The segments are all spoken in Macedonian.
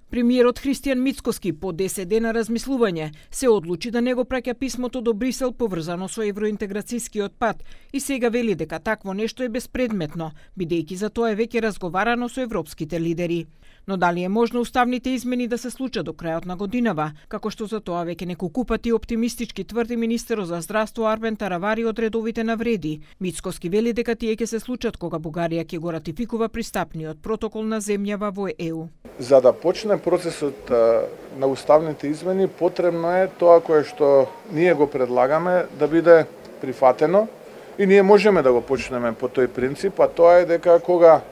Премиерот Христијан Мицкоски по 10 дена размислување се одлучи да не го праќа писмото до Брисел поврзано со евроинтеграцијскиот пат и сега вели дека такво нешто е безпредметно, бидејќи за тоа е веќе разговарано со европските лидери. Но дали е можно уставните измени да се случат до крајот на годинава, како што за тоа веќе неколку пати оптимистички тврди министерот за здравство Арбен Таравари од редовите навреди. Мицкоски вели дека тие ќе се случат кога Бугарија ќе го ратификува пристапниот протокол на земјава во ЕУ. За да почне процесот на уставните измени, потребно е тоа кое што ние го предлагаме да биде прифатено и ние можеме да го почнеме по тој принцип, а тоа е дека кога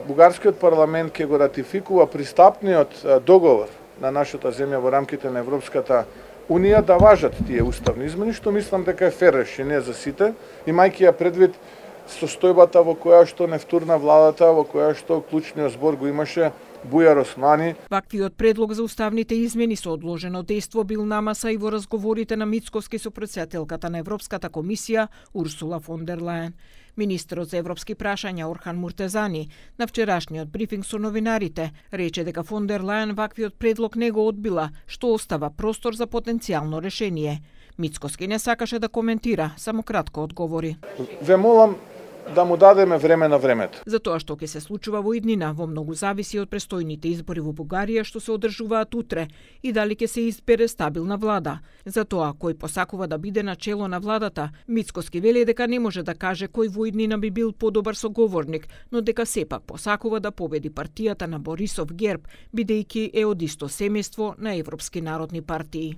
бугарскиот парламент ќе го ратификува пристапниот договор на нашата земја во рамките на Европската Унија, да важат тие уставни измени, што мислам дека е фер решение за сите, имајќи ја предвид состојбата во која што не втурна владата, во која што клучниот збор го имаше Бујар Османи. Ваквиот предлог за уставните измени со одложено дејство бил намаса и во разговорите на Мицкоски со претседателката на Европската комисија Урсула фон дер Лајен. Министерот за европски прашања Орхан Муртезани на вчерашниот брифинг со новинарите рече дека фон дер Лајен ваквиот предлог не го одбила, што остава простор за потенцијално решение. Мицкоски не сакаше да коментира, само кратко одговори. Ве молам да му дадеме време на времето. За тоа што ќе се случува во иднина, во многу зависи од престојните избори во Бугарија што се одржуваат утре и дали ќе се избере стабилна влада. За тоа кој посакува да биде на чело на владата, Мицкоски вели дека не може да каже кој во иднина би бил подобар соговорник, но дека сепак посакува да победи партијата на Борисов ГЕРБ, бидејќи е од исто семејство на европски народни партии.